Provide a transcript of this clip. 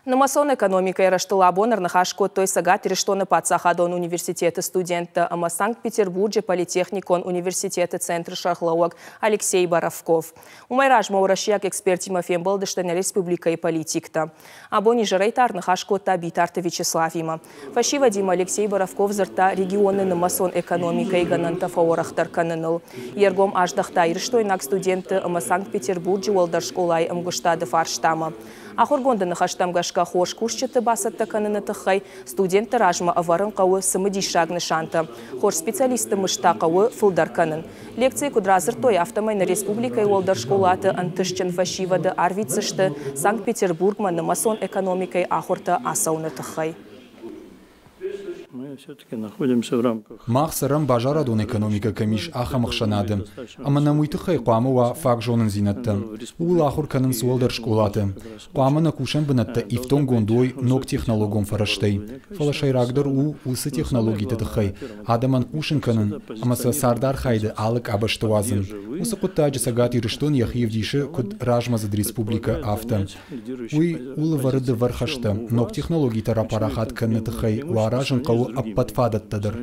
Нымӕцон экономикӕйы рӕзтыл абон ӕрныхас кодтой Цӕгат Ирыстоны паддзахадон университеты студенттӕ ӕмӕ Санкт-Петербурджы политехникон университеты центры сӕргълӕууӕг Алексей Боровков. Уымӕй размӕ уӕрӕсейаг экспертимӕ фембӕлдысты нӕ республикӕйы политиктӕ. Абон изӕрӕй та ӕрныхас кодта Битарты Вячеславимӕ. Фӕсивӕдимӕ Алексей Боровков дзырдта регионы нымӕцон экономикӕйы гӕнӕнтӕ фӕуӕрӕхдӕр кӕныныл. Йе ргом аздӕхта ирыстойнаг студентты ӕмӕ Санкт-Петербурджы уӕлдӕр скъолайы ӕмгуыстады фарстамӕ. Ахуыргонды ныхӕстӕм гӕсгӕ хорз кусджыты бацӕттӕ кӕныны тыххӕй студентты размӕ ӕвӕрын хъӕуы цымыдисаг нысантӕ. Хорз специалистты мызд та хъӕуы фылдӕр кӕнын. Лекцийы куыд радзырдтой, афтӕмӕй нӕ республикӕйы уӕлдӕр скъолаты ӕнтыстджын фӕсивӕды арвитдзысты Санкт-Петербургмӕ нымӕцон экономикӕйы ахуыртӕ ацӕуыны тыххӕй. Мах цӕрӕм базарадон экономикӕ кӕм ис, ахӕм ӕхсӕнады, ӕмӕ нӕм уый тыххӕй хъуамӕ уа фаг зонындзинӕдтӕ. Ууыл ахуыр кӕнынц уӕлдӕр скъолаты. Хъуамӕ нӕ кусӕн бынӕттӕ ифтонггонд уой ног технологон фӕрӕзтӕй. Фӕлӕ сӕйрагдӕр у уыцы технологиты тыххӕй адӕмӕн хъусын кӕнын ӕмӕ сӕ цардархайды алы къабӕзты уадзын. Уыцы хъуыддаджы Цӕгат Ирыстон йӕхи ӕвдисы куыд размӕдзыд республикӕ, афтӕ. Уый у лӕвӕры дывӕр хӕстӕ. Ног технологитӕ рапарахат кӕныны тыххӕй уӕ аразын хъӕуы ӕппӕт фадӕттӕ дӕр.